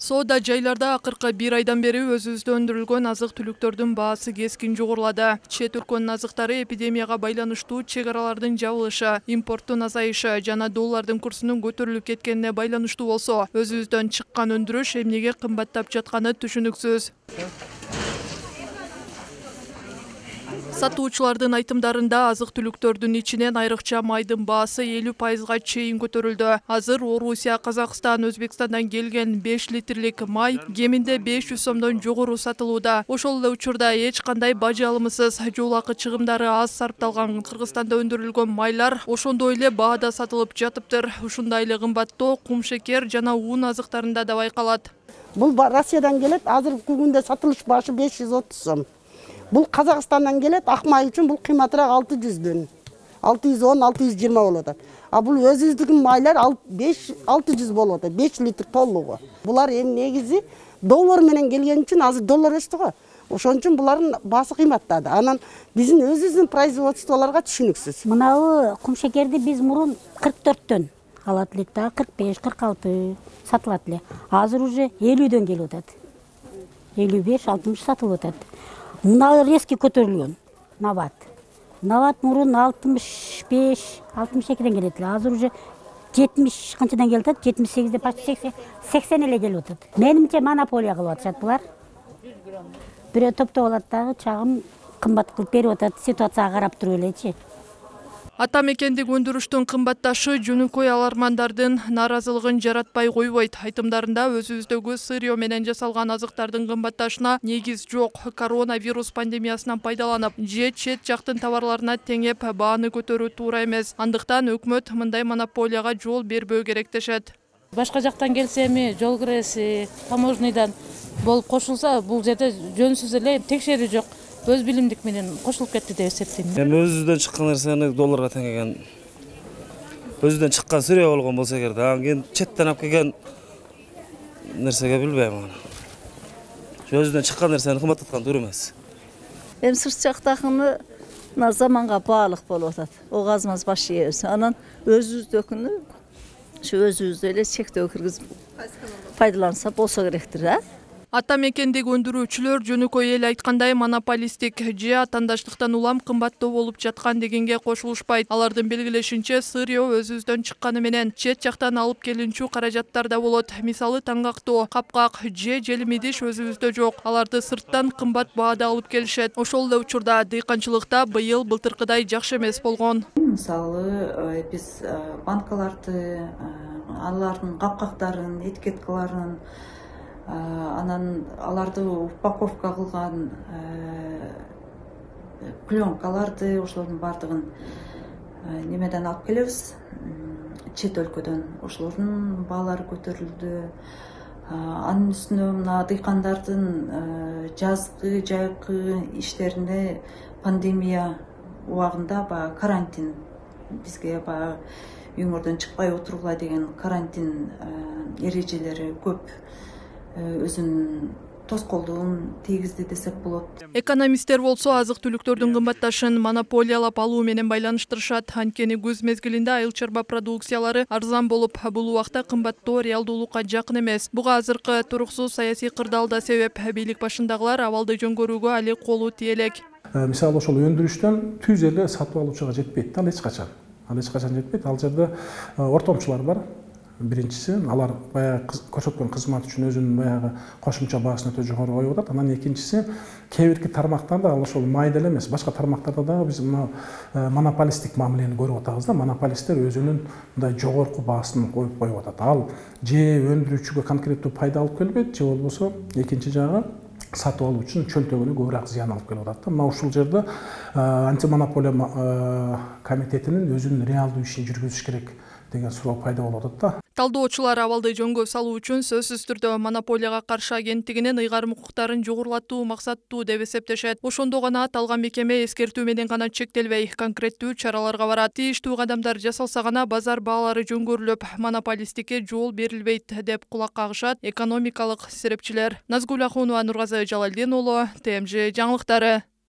Соода жайларда акыркы бир айдан бери өзүбүздө өндүрүлгөн азык-түлүктөрдүн баасы кескин жогорулады. Чет өлкөнүн азыктары эпидемияга байланыштуу чек аралардын жабылышы, импорттун азайышы жана доллардын курсунун көтөрүлүп кеткенине байланыштуу болсо, өзүбүздөн чыккан өндүрүш эмнеге кымбаттап жатканы түшүнүксүз. Сатуучулардын айтымдарында азык-түлүктөрдүн ичинен айрыкча майдын баасы 50%га чейин көтөрүлдү. Азыр Орусия, Казакстан, Өзбекстандан келген 5 литрлик май кеминде 500 сомдон жогору сатылууда. Ошол эле учурда эч кандай бажы алымысыз, жол акы чыгымдары аз сарпталган Кыргызстанда өндүрүлгөн майлар ошондой эле баада сатылып жатыптыр. Ушундай эле кымбаттоо кум шекер жана un азыктарында да байкалат. Бул Россиядан келет, азыркы күндө сатылыш башы 530 сом. Бул Казакстандан келет, ак май үчүн бул кыйматыраак 600дөн. 610-620 болот. А бул өзүбүздүн майлар 600 болот, 5 литр толугу. Булар эми негизи доллар менен келген үчүн азыр доллар өстү го. Ошон үчүн булардын баасы кыйматтады. Анан биздин өзүбүздүн производстволорго түшүнүксүз. Мынабы кум шекерди биз мурун 44төн алат элек да, 45-46 сатылат эле. Азыр уже 50дөн келип атат. 55-60 сатылып атат. Мына резко көтөрүлгөн нават. Нават мурун 65-62ден келет эле. Азыр уже 70 канчадан келип атат? 78де, почти 80 эле келип атат. Менимче монополия кылып атышат булар. Бирөө топтоп алат дагы чагым кымбат кылып берип атат. Ситуацияга карап туруп элечи. Ата мекендик өндүрүштүн кымбатташы жөнөкөй алармандардын нааразылыгын жаратпай койбойт. Айтымдарында өзүбүздөгү сырьё менен жасалган азыктардын кымбатташына негиз жок. Коронавирус пандемиясынан пайдаланып, же чет жактын товарларына теңеп бааны көтөрүү туура эмес. Андыктан өкмөт мындай монополияга жол бербөө керек дешет. Башка жактан келсе эми жол киреси, таможнядан болуп кошулса, бул жерде жөнсүз эле текшерүү жок. Өз билимдик менен кошулуп кетти деп эсептейм. Эми өзүбүздөн чыккан нерсени долларга теңеген, өзүдөн чыккан сырьё болгон болсо эгер, анан кийин четтен алып келген нерсеге билбейм аны. Өзүдөн чыккан нерсени кымбаттаткан туура эмес. Эми сырт жактакыны мына заманга баалык болуп атат. Огазыбыз баш ийебиз. Анан өзүбүздүкүнү ушу өзүбүздө эле чектөө киргизип пайдаланса болсо керектир, а? Ата мекендик өндүрүүчүлөр жөнөкөй эл айткандай монополисттик же атандаштыктан улам кымбаттоо болуп жаткан дегенге кошулушпайт. Алардын белгилешинче, сырьё өзүбүздөн чыкканы менен чет жактан алып келинчү каражаттар да болот. Мисалы таңгактоо, капкак же желим идиш өзүбүздө жок. Аларды сырттан кымбат баада алып келишет. Ошол эле учурда дыйканчылыкта быйыл былтыркыдай жакшы эмес болгон. Мисалы биз банкаларды, алардын капкактарын, этикеткаларын, анан аларды упаковка кылган пленкаларды, ошолордун баардыгын немеден алып келебиз, чет өлкөдөн. Ошолордун баалары көтөрүлдү. Анын үстүнө мына дыйкандардын жазгы, жайкы иштерине пандемия убагында баягы карантин, бизге баягы үйүңөрдөн чыкпай отургула деген карантин эрежелери көп өзүнүн тоскоолдугун тийгизди десек болот. Экономисттер болсо азык-түлүктөрдүн кымбатташын монополиялап алуу менен байланыштырышат. Анткени күз мезгилинде айыл чарба продукциялары арзан болуп, бул убакта кымбаттоо реалдуулукка жакын эмес. Буга азыркы туруксуз саясий кырдаал да себеп. Бийлик башындагылар абалды жөнгөрүүгө али колу тие элек. Мисалы ошол өндүрүштөн түз эле сатып алуучуга жетпейт. Ал эч качан жетпейт. Ал жерде ортомчулар бар. Биринчиси, алар баягы көрсөткөн кызмат үчүн өзүнүн баягы кошумча баасын өтө жогору коюп атат. Анан экинчиси, кээ бирки тармактарда, ал ошол майда эле эмес, башка тармактарда дагы биз мына монополисттик мамилени көрүп атабыз да. Монополисттер өзүнүн мындай жогорку баасын коюп атат. Ал же өндүрүүчүгө конкреттүү пайда алып келбейт, же болбосо экинчи жагы сатып алуу үчүн чөнтөгүнө көбүрөөк зыян алып келип атат да. Мына ушул жерде антимонополия комитетинин өзүнүн реалдуу ишин жүргүзүш керек деген суроо пайда болуп атат да. Талдоочулар абалды жөнгө салуу үчүн сөзсүз түрдө монополияга каршы агенттигинин ыйгарым укуктарын жогорулатуу максаттуу деп эсептешет. Ошондо гана аталган мекеме эскертүү менен гана чектелбей, конкреттүү чараларга барат. Тийиштүү кадамдар жасалса гана базар баалары жөнгөрүлүп, монополисттикке жол берилбейт деп кулак кагышат экономикалык серепчилер. Назгүл Ахунова, Нургазы Жалалдин уулу, ТМЖ жаңылыктары.